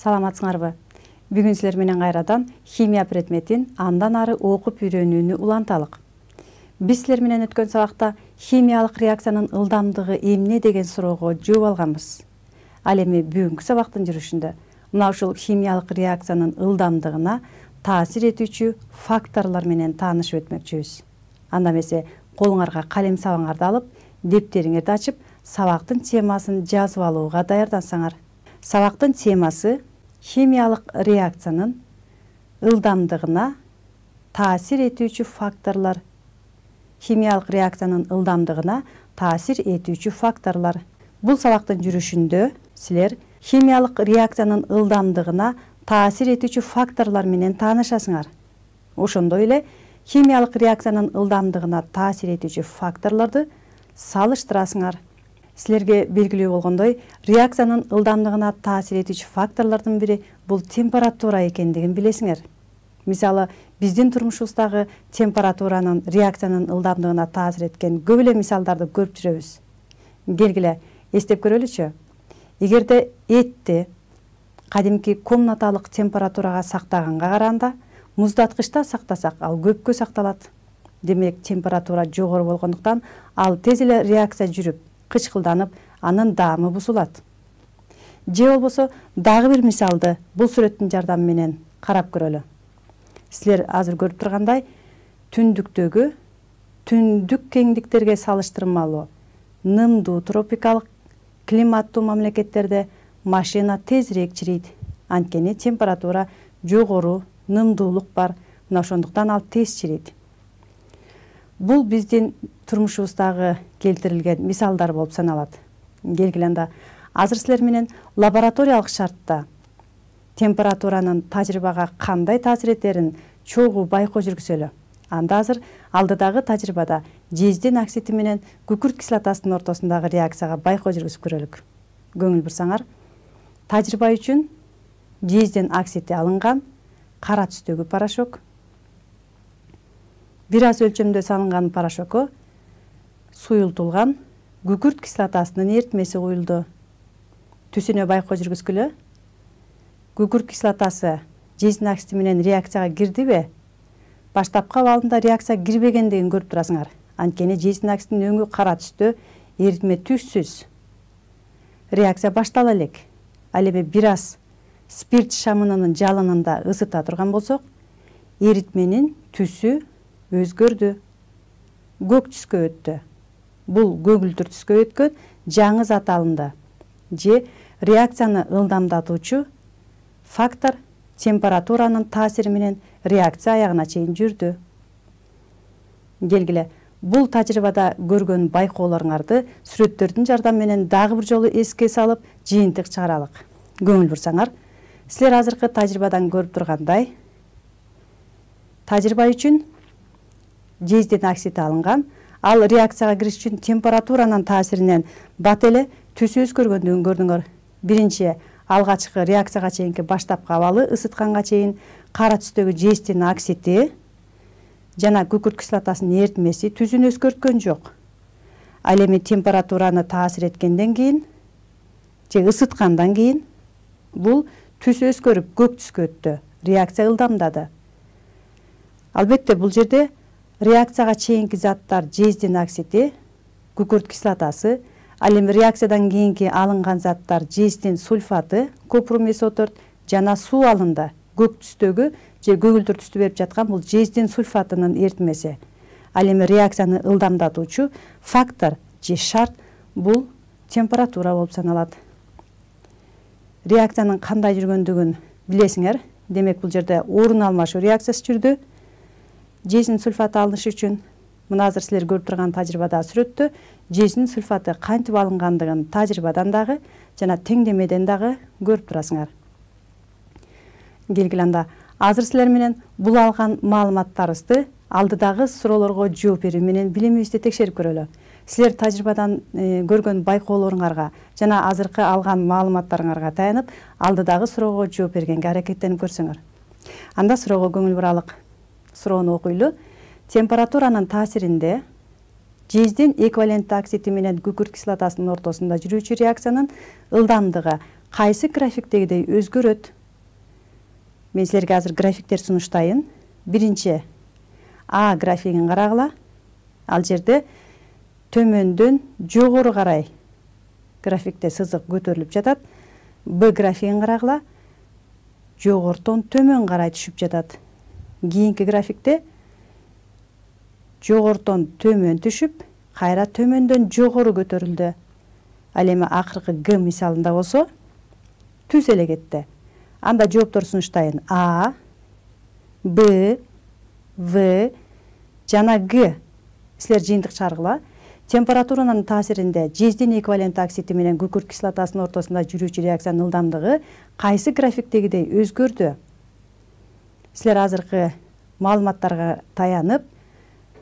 Саламатсыңарбы? Бүгүн силер менен кайрадан химия предметин андан ары окуп үйрөнүүнү уланталык. Биз силер менен өткөн сабакта химиялык реакциянын ылдамдыгы эмне деген суроого жооп алганбыз. Ал эми бүгүнкү сабактын жүрүшүндө мына ушул химиялык реакциянын ылдамдыгына таасир этүүчү факторлор менен таанышып өтмөкчүбүз. Анда эмесе колуңарга калем сабаңарды алып, дептериңерди ачып, сабактын темасын жазып алууга даярдансаңар. Сабактын темасы химиялык реакциянын ылдамдыгына таасир этүүчү факторлор. Химиялык реакциянын ылдамдыгына таасир этүүчү факторлор. Бул сабактын жүрүшүндө силер химиялык реакциянын ылдамдыгына таасир этүүчү факторлор менен таанышасыңар. Ошондой эле химиялык реакциянын ылдамдыгына таасир этүүчү факторлорду салыштырасыңар. Силерге белгилүү болгондой, реакциянын ылдамдыгына таасир этүүчү факторлордун бири бул температура экендигин билесиңер. Мисалы, биздин турмушубуздагы температуранын реакциянын ылдамдыгына таасир эткен көп эле мисалдарды көрүп жүрөбүз. Келгиле, эстеп көрөлүчү. Эгерде этти кадимки комнаталык температурага сактаганга караганда муздаткычта сактасак, ал көпкө сакталат. Демек, температура жогору болгондуктан ал тез эле реакция жүрүп, кычкылданып, анын даамы бузулат. Же болбосо дагы бир мисалды бул сүрөттүн жардамы менен карап көрөлү. Силер азыр көрүп тургандай, түндүктөгү түндүк кеңдиктерге салыштырмалуу нымдуу тропикалык климаттуу мамлекеттерде машина тезирээк чирийт. Анткени температура жогору, нымдуулук бар. Мына ошондуктан ал тез чирийт. Бул биздин турмушубуздагы келтирилген мисалдар болуп саналат. Келгиле анда азыр силер менен лабораториялык шартта температуранын тажрыйбага кандай таасир этерин чогуу байкоо жүргүзөлү. Анда азыр алдыдагы тажрыйбада жездин оксиди менен күкүрт кислотасынын ортосундагы реакцияга байкоо жүргүзүп көрөлүк. Көңүл бурсаңар, тажрыйба үчүн жездин оксиди алынган, кара түстөгү порошок, бир аз өлчөмдө салынган порошокко суюлтулган күкүрт кислотасынын эритмеси куюлду. Түсүнө байкоо жүргүзгүлө. Күкүрт кислотасы жездин оксиди менен реакцияга кирдиби? Баштапкы абалында реакция кирбегендигин көрүп турасыңар. Анткени жездин оксидинин өңү кара түстө, эритме түссүз. Реакция баштала элек. Ал эми бир аз спирт шамынынын жалынында ысыта турган болсок, эритменин түсү өзгөрдү. Көк түскө өттү. Бул көгүлдүр түскө өткөн жаңы зат алынды. Же реакцияны ылдамдатуучу фактор температуранын таасири менен реакция аягына чейин жүрдү. Келгиле, бул тажрыйбада көргөн байкоолоруңарды сүрөттөрдүн жардамы менен дагы бир жолу эске салып, жыйынтык чыгаралык. Көңүл бурсаңар, силер азыркы тажрыйбадан көрүп тургандай, тажрыйба үчүн жездин оксиди алынган, ал реакцияга кириш үчүн температуранын таасиринен бат эле түсү өзгөргөндүгүн көрдүңөр. Биринчи алгачкы реакцияга чейинки баштапкы абалы ысытканга чейин кара түстөгү жездин оксиди жана күкүрт кислотасынын эритмеси түсүн өзгөрткөн жок. Ал эми температураны таасир эткенден кийин же ысыткандан кийин бул түс өзгөрүп көк түскө өттү. Реакция ылдамдады. Албетте бул жерде реакцияга чейинки заттар жездин оксиди, күкүрт кислотасы, ал эми реакциядан кийинки алынган заттар жездин сульфаты, копрумесоторт жана суу алынды. Көк түстөгү же көгүлдүр түстү берип жаткан бул жездин сульфатынын эритмеси. Ал эми реакцияны ылдамдатуучу фактор же шарт бул температура болуп саналат. Реакциянын кандай жүргөндүгүн билесиңер. Демек, бул жерде орун алмашуу реакциясы жүрдү. Жездин сульфаты алыныш үчүн мына азыр силер көрүп турган тажрыйбада сүрөттө жездин сульфаты кантип алынгандыгын тажрыйбадан дагы жана теңдемеден дагы көрүп турасыңар. Келгиле анда азыр силер менен бул алган маалыматтарыбызды алдыдагы суроолорго жооп берүү менен билимибизди текшерип көрөлү. Силер тажрыйбадан көргөн байкоолоруңарга жана азыркы алган маалыматтарыңарга таянып, алдыдагы суроого жооп бергенге аракеттенип көрсөңөр. Анда суроого көңүл буралык. Суроону окуйлу. Температуранын таасиринде жездин эквивалентті оксиди менен күкүрт кислотасынын ортосунда жүрүүчү реакциянын ылдамдыгы кайсы графиктегидей өзгөрөт? Мен силерге азыр графиктер сунуштайын. Биринчи А графигин карагыла. Ал жерде төмөндөн жогору карай графикте сызык көтөрүлүп жатат. Б графигин карагыла. Жогортон төмөн карай түшүп жатат. Кийинки графикте жогортон төмөн түшүп, кайра төмөндөн жогору көтөрүлдү. Ал эми акыркы Г мисалында болсо түз эле кетти. Анда жооптор сунуштайын. А, Б, В жана Г. Силер жыйынтык чыгаргыла. Температуранын таасиринде жездин эквивалент оксиди менен күкүрт кислотасынын ортосунда жүрүүчү реакциянын ылдамдыгы кайсы графиктегидей өзгөрдү? Силер азыркы маалыматтарга таянып,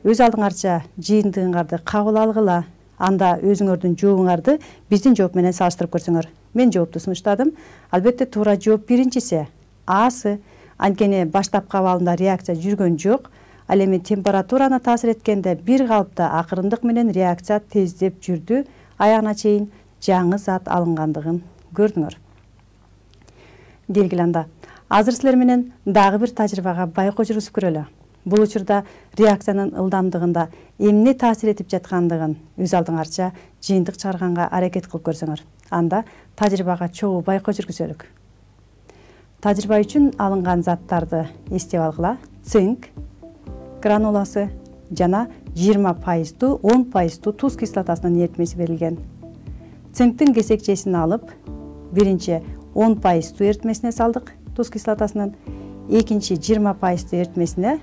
өз алдыңарча жыйынтыгыңарды кабыл алгыла. Анда өзүңөрдүн жообуңарды биздин жооп менен салыштырып көрсөңөр. Мен жоопту сунуштадым. Албетте туура жооп биринчиси. Асы. Анткени баштапкы абалында реакция жүргөн жок. Ал эми температураны таасир эткенде бир калыпта акырындык менен реакция тездеп жүрдү. Аягына чейин жаңы зат алынгандыгын көрдүңөр. Келгиле анда. Азыр силер менен дагы бир тажрыйбага байкоо жүргүзүп көрөлү. Бул учурда реакциянын ылдамдыгында эмне таасир этип жаткандыгын өз алдыңарча жыйынтык чыгарганга аракет кылып көрсөңөр. Анда тажрыйбага чогуу байкоо жүргүзөлүк. Тажрыйба үчүн алынган заттарды эстеп алгыла. Цинк грануласы жана 20% 10% туз кислотасынын эритмеси берилген. Цинктин кесекчесин алып, биринчи 10% эритмесине салдык туз кислотасынын, экинчи 20% эритмесине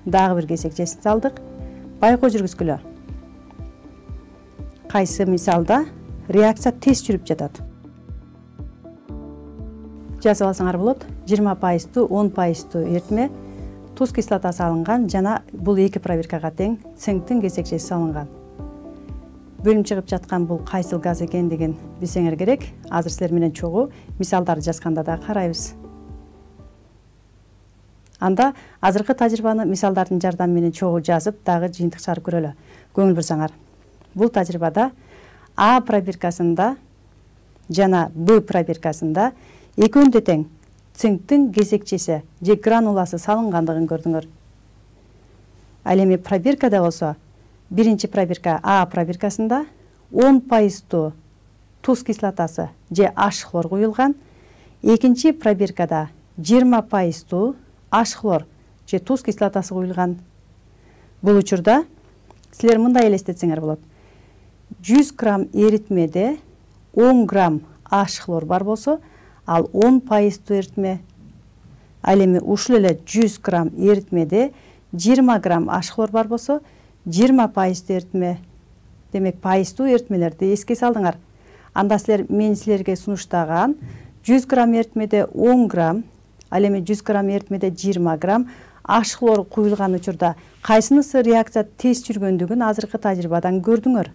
дагы бир кесекчесин салдык. Байкоо жүргүзгүлө. Кайсы мисалда реакция тез жүрүп жатат? Жазып алсаңар болот. 20% 10% эритме туз кислотасы алынган жана бул эки проверкага тең цинктин кесекчеси салынган. Бөлүнүп чыгып жаткан бул кайсыл газ экендигин билсеңер керек. Азыр силер менен чогуу мисалдарды жазганда да карайбыз. Анда азыркы тажрыйбаны мисалдардын жардамы менен чогуу жазып, дагы жыйынтык чыгарып көрөлү. Көңүл бурсаңар. Бул тажрыйбада А пробиркасында жана Б пробиркасында экөөндө тең цинктин кесекчеси же грануласы салынгандыгын көрдүңөр. Ал эми пробиркада болсо, биринчи пробирка А пробиркасында 10% туз кислотасы же H хлор куюлган, экинчи пробиркада 20% H хлор же туз кислотасы куюлган. Бул учурда силер мындай элестетсеңер болот. 100 грамм эритмеде 10 грамм H хлор бар болсо, ал 10% эритме. Ал эми ушул эле 100 грамм эритмеде 20 грамм H хлор бар болсо, 20% эритме. Демек, пайыздуу эритмелерди эске салдыңар. Анда силер мен силерге сунуштаган 100 грамм эритмеде 10 грамм, ал эми 100 грамм эритмеде 20 грамм H хлор куюлган учурда кайсынысы реакция тез жүргөндүгүн азыркы тажрыйбадан көрдүңөр.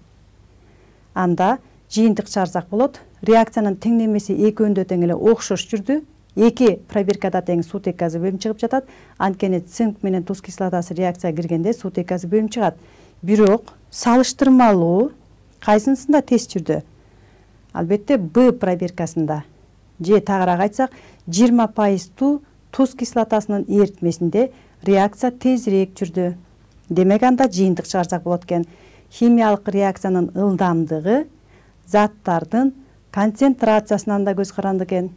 Анда жыйынтык чыгарсак болот. Реакциянын теңдемеси экөөндө тең эле окшош жүрдү. Эки пробиркада тең суутек газы бөлүнүп чыгып жатат. Анткени цинк менен туз кислотасы реакцияга киргенде суутек газы бөлүнүп чыгат. Бирок салыштырмалуу кайсынысында тез жүрдү? Албетте Б пробиркасында. Же тагыраак айтсак, 20% туз кислотасынын эритмесинде реакция тезирээк жүрдү. Демек, анда жыйынтык чыгарсак болот экен. Химиялык реакциянын ылдамдыгы заттардын концентрациясынан да көз каранды экен.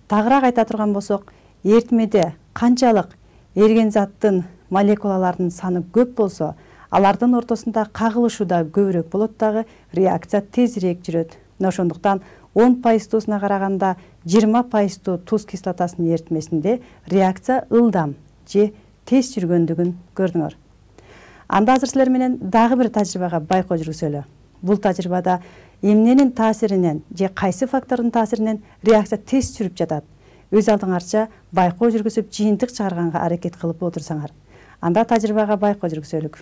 Тагыраак айта турган болсок, эритмеде канчалык эриген заттын молекулаларынын саны көп болсо, алардын ортосунда кагылышуу да көбүрөөк болот дагы, реакция тезирээк жүрөт. Ошондуктан 10%-суна караганда 20% туз кислотасынын эритмесинде реакция ылдам же тез жүргөндүгүн көрдүңөр. Анда азыр силер менен дагы бир тажрыйбага байкоо жүргүзөлү. Бул тажрыйбада эмненин таасиринен же кайсы фактордун таасиринен реакция тез жүрүп жатат? Өз алдыңарча байкоо жүргүзүп жыйынтык чыгарганга аракет кылып отурсаңар. Анда тажрыйбага байкоо жүргүзөлүк.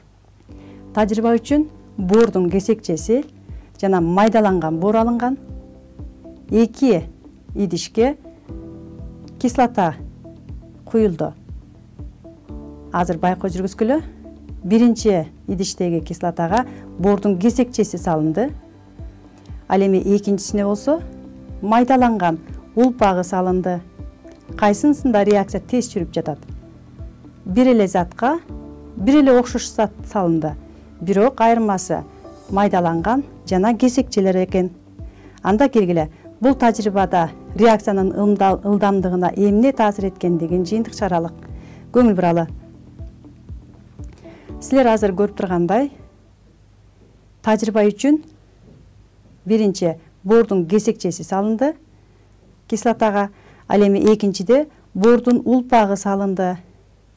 Тажрыйба үчүн бордун кесекчеси жана майдаланган бор алынган. 2 идишке кислота куюлду. Азыр байкоо жүргүзгүлө. Биринчи идиштеги кислотага бордун кесекчеси салынды. Ал эми экинчисине болсо майдаланган улпагы салынды. Кайсынысында реакция тез жүрүп жатат? Бир эле затка бир эле окшош зат салынды, бирок айырмасы майдаланган жана кесекчелер экен. Анда келгиле, бул тажрыйбада реакциянын ылдамдыгына эмне таасир эткендигин жыйынтык чыгаралык. Көңүл буралы. Силер азыр көрүп тургандай, тажрыйба үчүн биринчи бордун кесекчеси салынды кислотага, ал эми экинчиде бордун улпагы салынды.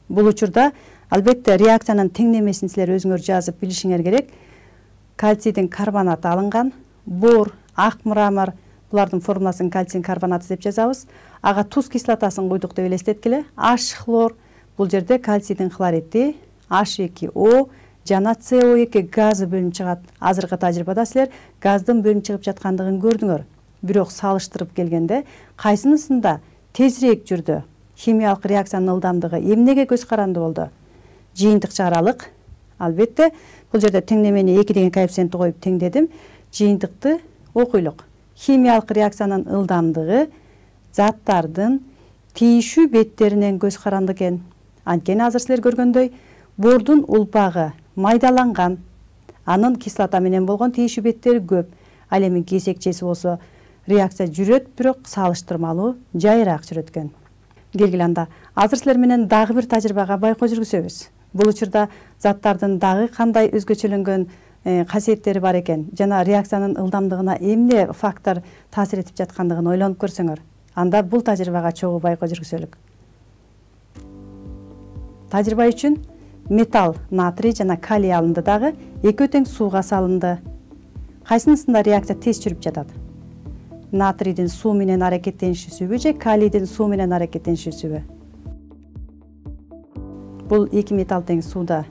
Бул учурда албетте реакциянын теңдемесин силер өзүңөр жазып билишиңер керек. Кальцийдин карбонаты алынган, бор, ак мрамор, булардын формуласын кальций карбонаты деп жазабыз. Ага туз кислотасын куйдук деп элестеткиле. H хлор, бул жерде кальцийдин хлориди, H2O жана CO2 газы бөлүнүп чыгат. Азыркы тажрыйбада силер газдын бөлүнүп чыгып жаткандыгын көрдүңөр. Бирок салыштырып келгенде кайсынысында тезирээк жүрдү? Химиялык реакциянын ылдамдыгы эмнеге көз каранды болду? Жыйынтык чыгаралык. Албетте, бул жерде теңдемени 2 деген коэффициентти коюп теңдедим. Жыйынтыкты окуйлук. Химиялык реакциянын ылдамдыгы заттардын тийишүү беттеринен көз каранды экен. Анткени азыр силер көргөндөй, бордун улпагы майдаланган, анын кислота менен болгон тийишүү беттери көп. Ал эми кесекчеси болсо реакция жүрөт, бирок салыштырмалуу жайыраак жүрөт экен. Келгиле анда, азыр силер менен дагы бир тажрыйбага байкоо жүргүзөбүз. Бул учурда заттардын дагы кандай өзгөчөлөнгөн касиеттери бар экен жана реакциянын ылдамдыгына эмне фактор таасир этип жаткандыгын ойлонуп көрсөңөр. Анда бул тажрыйбага чогуу байкоо жүргүзөлүк. Тажрыйба үчүн металл, натрий жана калий алынды, дагы экөө тең сууга салынды. Кайсынысында реакция тез жүрүп жатат? Натрийдин суу менен аракеттенишүүсүбү же калийдин суу менен аракеттенишүүсүбү? Бул эки металл тең сууда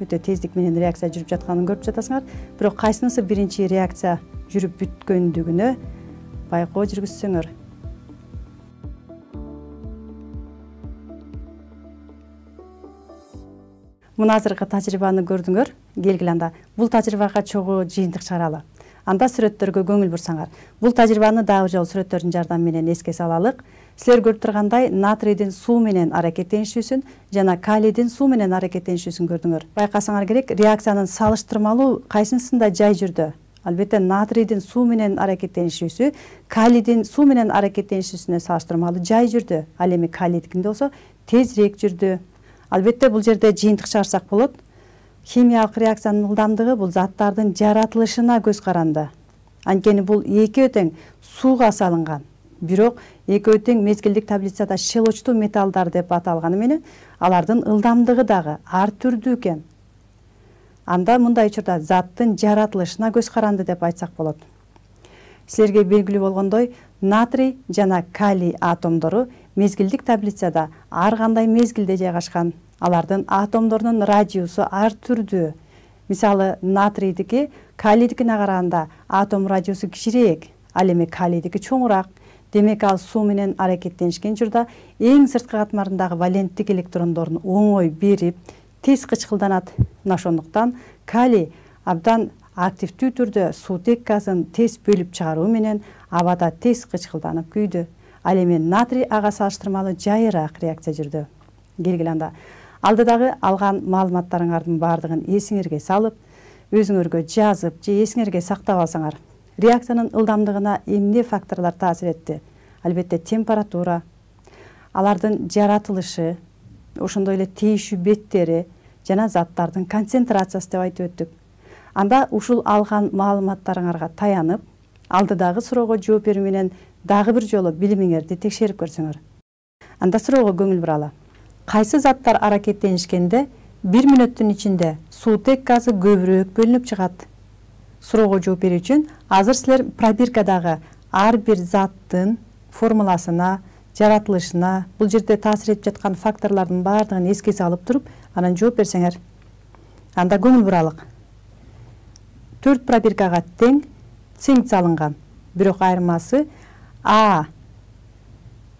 өтө тездик менен реакция жүрүп жатканын көрүп жатасыңар. Бирок кайсынысы биринчи реакция жүрүп бүткөндүгүнө байкоо жүргүзсөңөр. Мына азыркы тажрыйбаны көрдүңөр. Келгиле анда, бул тажрыйбага чогуу жыйынтык чыгаралы. Анда сүрөттөргө көңүл бурсаңар. Бул тажрыйбаны дагы жолу сүрөттөрдүн жардамы менен эске салалык. Силер көрүп тургандай, натрийдин суу менен аракеттенишүүсүн жана калийдин суу менен аракеттенишүүсүн көрдүңөр. Байкасаңар керек, реакциянын салыштырмалуу кайсынысында жай жүрдү? Албетте, натрийдин суу менен аракеттенишүүсү калийдин суу менен аракеттенишүүсүнө салыштырмалуу жай жүрдү. Ал эми калийдикинде болсо тезирээк жүрдү. Албетте, бул жерде жыйынтык чыгарсак болот. Химиялык реакциянын ылдамдыгы бул заттардын жаратылышына көз каранды. Анткени бул экөө тең сууга салынган. Бирок экөө тең мезгилдик таблицада шелочтуу металлдар деп аталганы менен алардын ылдамдыгы дагы ар түрдүү экен. Анда мындай учурда заттын жаратылышына көз каранды деп айтсак болот. Силерге белгилүү болгондой, натрий жана калий атомдору мезгилдик таблицада ар кандай мезгилде жайгашкан. Алардын атомдорунун радиусу ар түрдүү. Мисалы, натрийдики калийдикине караганда атом радиусу кичирэк, ал эми калийдики чоңураак. Демек, ал суу менен аракеттенишкен учурда эң сырткы катмарындагы валенттик электрондорун оңой берип, тез кычкылданат. Мына ошондуктан калий абдан активдүү түрдө суутек газын тез бөлүп чыгаруу менен абада тез кычкылданып күйдү. Ал эми натрий ага салыштырмалуу жайыраак реакция жүрдү. Келгиле анда, алдыдагы алган маалыматтарыңардын баардыгын эсиңерге салып, өзүңөргө жазып же эсиңерге сактап алсаңар, реакциянын ылдамдыгына эмне факторлор таасир этти? Албетте, температура, алардын жаратылышы, ошондой эле тийишүү беттери жана заттардын концентрациясы деп айтып өттүк. Анда ушул алган маалыматтарыңарга таянып, алдыдагы суроого жооп берүү менен дагы бир жолу билимиңерди текшерип көрсөңөр. Анда суроого көңүл буралы. Кайсы заттар аракеттенишкенде 1 мүнөттүн ичинде суутек газы көбүрөөк бөлүнүп чыгат? Суроого жооп берүү үчүн азыр силер пробиркадагы ар бир заттын формуласына, жаратылышына, бул жерде таасир этип жаткан факторлордун баардыгын эске салып туруп, анан жооп берсеңер. Анда көңүл буралык. 4 пробиркага тең цинк салынган, бирок айырмасы А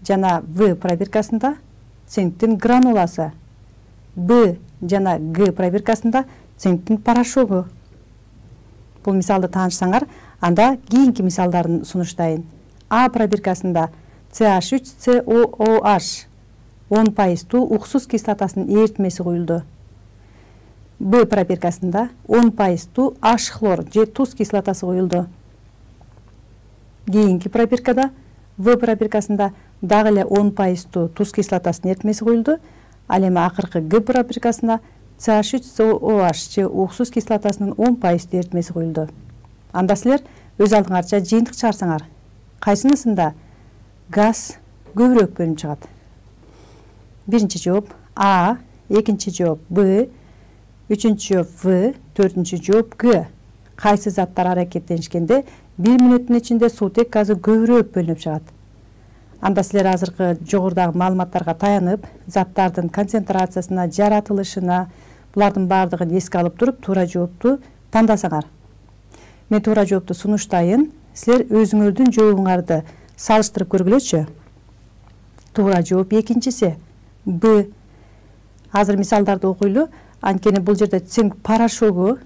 жана В пробиркасында цинктин грануласы, Б жана Г пробиркасында цинктин порошогу. Бул мисалды таанышсаңар, анда кийинки мисалдарын сунуштайын. А пробиркасында CH3COOH 10% уксус кислотасынын эритмеси куюлду. Б пробиркасында 10% H хлор же туз кислотасы куюлду. Кийинки пробиркада В пробиркасында дагы эле 10% туз кислотасынын эритмеси куюлду. Ал эми акыркы Г пробиркасында CH3COOH же уксус кислотасынын 10% эритмеси куюлду. Анда силер өз алдыңарча жыйынтык чыгарсаңар, кайсынысында газ көбүрөөк бөлүнүп чыгат? Биринчи жооп А, экинчи жооп Б, үчүнчү жооп В, төртүнчү жооп Г. Кайсы заттар аракеттенишкенде 1 мүнөттүн ичинде суутек газы көбүрөөк бөлүнүп чыгат? Анда силер азыркы жогорудагы маалыматтарга таянып, заттардын концентрациясына, жаратылышына, булардын баардыгын эске алып туруп, туура жоопту тандасаңар. Мен туура жоопту сунуштайын, силер өзүңөрдүн жообуңарды салыштырып көргүлөчү. Туура жооп экинчиси Б. Азыр мисалдарды окуйлу. Анткени бул жерде цинк порошогу,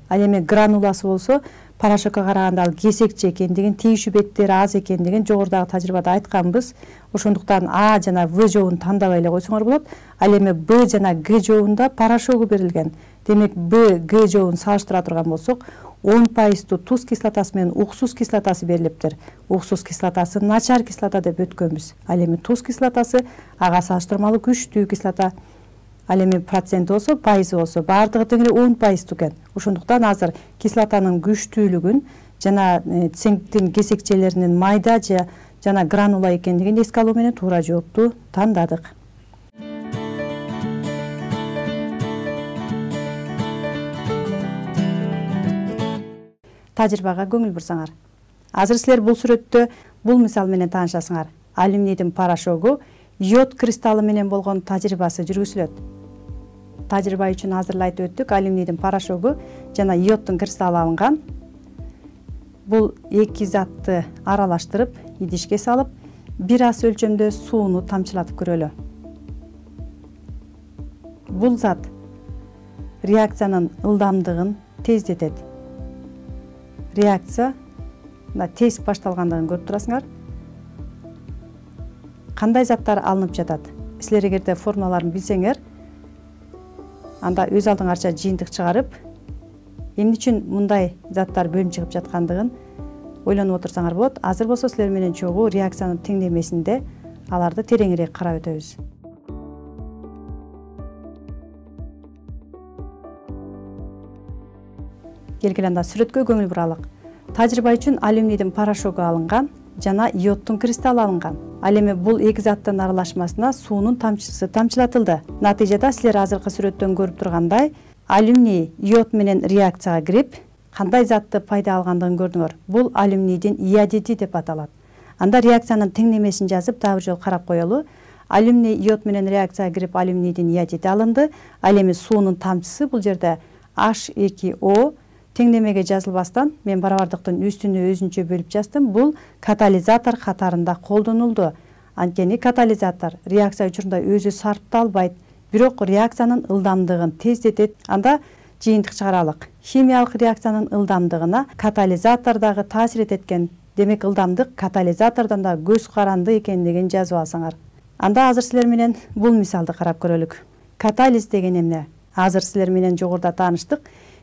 ал эми грануласы болсо порошокко караганда ал кесекчи экендигин, тийишүү беттери аз экендигин жогорудагы тажрыйбада айтканбыз. Ошондуктан А жана В жообун тандабай эле койсоңор болот. Ал эми Б жана Г жообунда порошогу берилген. Демек Б, Г жообун салыштыра турган болсок, 10% туз кислотасы менен уксус кислотасы берилиптир. Уксус кислотасы начар кислота деп өткөнбүз. Ал эми туз кислотасы ага салыштырмалуу күчтүү кислота. Ал эми проценти болсо, пайызы болсо, баардыгы тең эле 10% экен. Ошондуктан азыр кислотанын күчтүүлүгүн жана цинктин кесекчелеринин майда жана гранула экендигин эске алуу менен туура жоопту тандадык. Тажрыйбага көңүл бурсаңар. Азыр силер бул сүрөттө бул мисал менен таанышасыңар. Алюминдин порошогу йод кристаллы менен болгон тажрыйбасы жүргүзүлөт. Тажрыйба үчүн азыр эле айтып өттүк, алюминдин порошогу жана йоддун кристаллы алынган. Бул эки затты аралаштырып, идишке салып, бир ас өлчөмдө сууну тамчылатып көрөлү. Бул зат реакциянын ылдамдыгын тездетет. Реакция тез башталгандыгын көрүп турасыңар. Кандай заттар алынып жатат? Силер эгерде формулаларын билсеңер, анда өз алдыңарча жыйынтык чыгарып, эмне үчүн мындай заттар бөлүнүп чыгып жаткандыгын ойлонуп отурсаңар болот. Азыр болсо силер менен чогуу реакциянын теңдемесинде аларды тереңирээк карап өтөбүз. Келгиле анда сүрөткө көңүл буралык. Тажрыйба үчүн алюминдин порошогу алынган жана йоддун кристаллы алынган. Ал эми бул эки заттын аралашмасына суунун тамчысы тамчылатылды. Натыйжада силер азыркы сүрөттөн көрүп тургандай, алюминий йод менен реакцияга кирип, кандай затты пайда алгандыгын көрдүңөр. Бул алюминийдин иодиди деп аталат. Анда реакциянын теңдемесин жазып, дагы бир жолу карап коелу. Алюминий йод менен реакцияга кирип, алюминийдин иодиди алынды. Ал эми суунун тамчысы бул жерде H2O теңдемеге жазылбастан мен барабардыктын үстүнө өзүнчө бөлүп жаздым. Бул катализатор катарында колдонулду. Анткени катализатор реакция учурунда өзү сарпталбайт, бирок реакциянын ылдамдыгын тездетет. Анда жыйынтык чыгаралык. Химиялык реакциянын ылдамдыгына катализатор дагы таасир эткен. Демек ылдамдык катализатордон да көз каранды экендигин жазып алсаңар. Анда азыр силер менен бул мисалды карап көрөлүк. Катализ деген эмне? Азыр силер менен жогоруда тааныштык.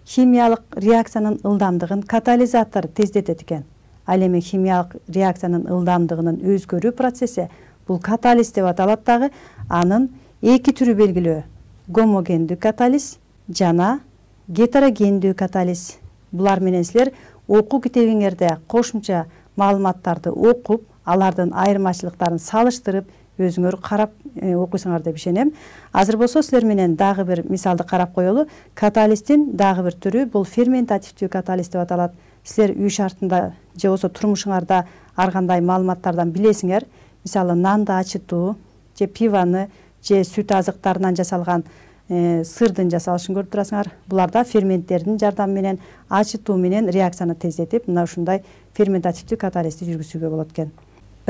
Химиялык реакциянын ылдамдыгын катализатор тездетет экен. Ал эми химиялык реакциянын ылдамдыгынын өзгөрүү процесси бул катализ деп аталат дагы. Анын эки түрү белгилүү: гомогендүү катализ жана гетерогендүү катализ. Булар менен силер окуу китебиңерде кошумча маалыматтарды окуп, алардын айырмачылыктарын салыштырып, өзүңөр карап окуйсуңар деп ишенем. Азыр болсо силер менен дагы бир мисалды карап коелу. Катализдин дагы бир түрү бул ферментативдүү катализ деп аталат. Силер үй шартында же болсо турмушуңарда ар кандай маалыматтардан билесиңер. Мисалы нанды ачытуу, же пиваны, же сүт азыктарынан жасалган сырдын жасалышын көрүп турасыңар. Буларда ферменттердин жардамы менен ачытуу менен реакцияны тездетип, мына ушундай ферментативдүү катализди жүргүзүүгө болот экен.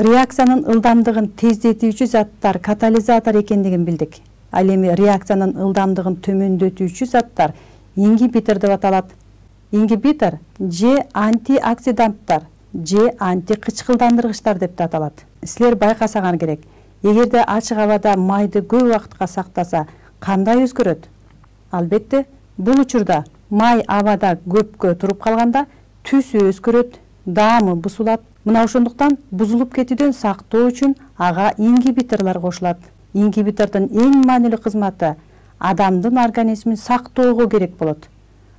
Реакциянын ылдамдыгын тездетүүчү заттар катализатор экендигин билдик. Ал эми реакциянын ылдамдыгын төмөндөтүүчү заттар ингибитор деп аталат. Ингибитор же антиоксиданттар же антикычкылдандыргычтар деп да аталат. Силер байкасаңар керек, эгерде ачык абада майды көп убакытка сактаса кандай өзгөрөт? Албетте, бул учурда май абада көпкө туруп калганда түсү өзгөрөт, даамы бузулат. Мына ошондуктан бузулуп кетүүдөн сактоо үчүн ага ингибиторлор кошулат. Ингибитордун эң маанилүү кызматы адамдын организмин сактоого керек болот.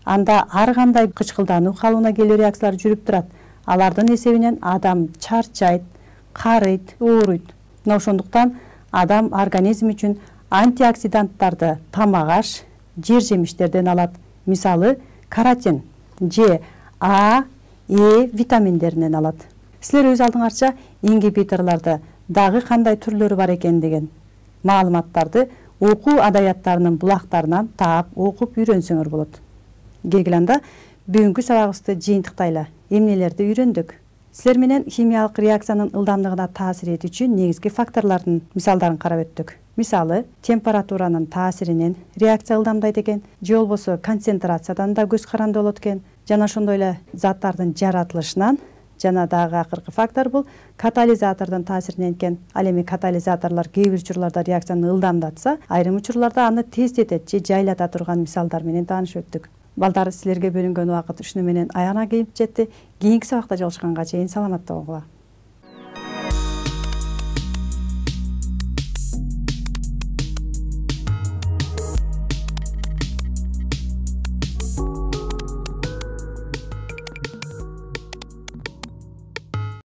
Анда ар кандай кычкылдануу калыбына келүү реакциялар жүрүп турат. Алардын эсебинен адам чарчайт, карыйт, ооруйт. Мына ошондуктан адам организм үчүн антиоксиданттарды тамак-аш, жер жемиштерден алат. Мисалы, каротин, Ж, А, Е витаминдеринен алат. Силер өз алдыңарча ингибиторлорду дагы кандай түрлөрү бар экен деген маалыматтарды окуу адабияттарынын булактарынан таап окуп үйрөнсөңөр болот. Келгиле анда бүгүнкү сабагыбызды жыйынтыктайлы. Эмнелерди үйрөндүк? Силер менен химиялык реакциянын ылдамдыгына таасир этүүчү негизги факторлордун мисалдарын карап өттүк. Мисалы, температуранын таасиринен реакция ылдамдайт экен, же болбосо концентрациядан да көз каранды болот экен. Жана ошондой эле заттардын жаратылышынан, жана дагы акыркы фактор бул катализатордун таасиринен экен. Ал эми катализаторлор кээ бир учурларда реакцияны ылдамдатса, айрым учурларда аны тездетет же жайлата турган мисалдар менен таанышып өттүк. Балдар, силерге бөлүнгөн убакыт ушуну менен аягына келип жетти. Кийинки сабакта жолугушканга чейин саламатта болгула.